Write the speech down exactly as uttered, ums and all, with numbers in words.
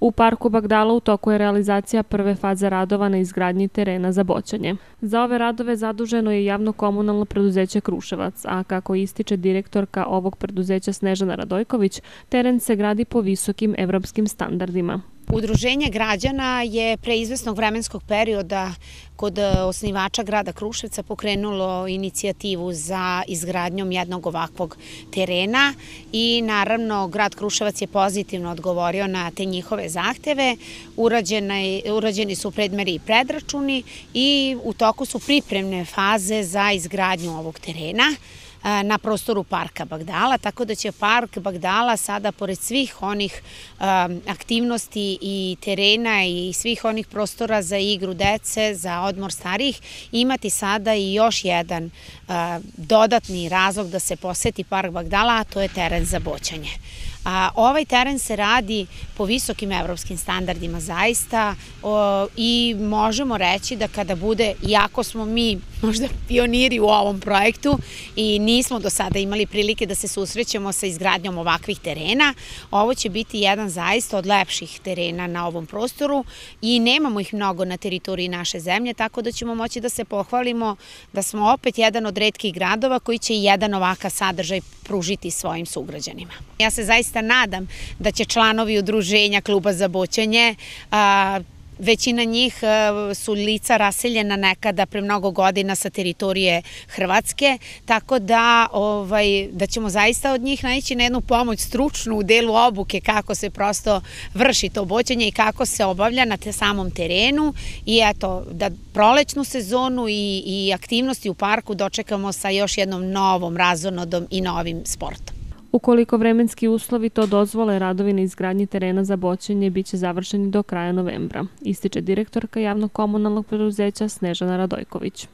U parku Bagdala u toku je realizacija prve faze radova na izgradnji terena za boćanje. Za ove radove zaduženo je javno-komunalno preduzeće Kruševac, a kako ističe direktorka ovog preduzeća Snežana Radojković, teren se gradi po visokim evropskim standardima. Udruženje građana je pre izvesnog vremenskog perioda kod osnivača grada Kruševca pokrenulo inicijativu za izgradnjom jednog ovakvog terena i naravno grad Kruševac je pozitivno odgovorio na te njihove zahteve. Urađeni su predmeri i predračuni i u toku su pripremne faze za izgradnju ovog terena na prostoru parka Bagdala, tako da će park Bagdala sada, pored svih onih aktivnosti i terena i svih onih prostora za igru dece, za odmor starijih, imati sada i još jedan dodatni razlog da se poseti park Bagdala, a to je teren za boćanje. Ovaj teren se radi po visokim evropskim standardima zaista i možemo reći da kada bude, iako smo mi možda pioniri u ovom projektu i nismo do sada imali prilike da se susrećemo sa izgradnjom ovakvih terena, ovo će biti jedan zaista od lepših terena na ovom prostoru i nemamo ih mnogo na teritoriji naše zemlje, tako da ćemo moći da se pohvalimo da smo opet jedan od retkih gradova koji će jedan ovakav sadržaj pružiti svojim sugrađanima. Ja se zaista nadam da će članovi udruženja Kluba za boćanje, većina njih su lica raseljena nekada pre mnogo godina sa teritorije Hrvatske, tako da, ovaj, da ćemo zaista od njih naići na jednu pomoć stručnu u delu obuke kako se prosto vrši to boćanje i kako se obavlja na te samom terenu i eto, da prolećnu sezonu i, i aktivnosti u parku dočekamo sa još jednom novom razonodom i novim sportom. Ukoliko vremenski uslovi to dozvole, radovi na izgradnji terena za boćanje biće završeni do kraja novembra, ističe direktorka javno-komunalnog preduzeća Snežana Radojković.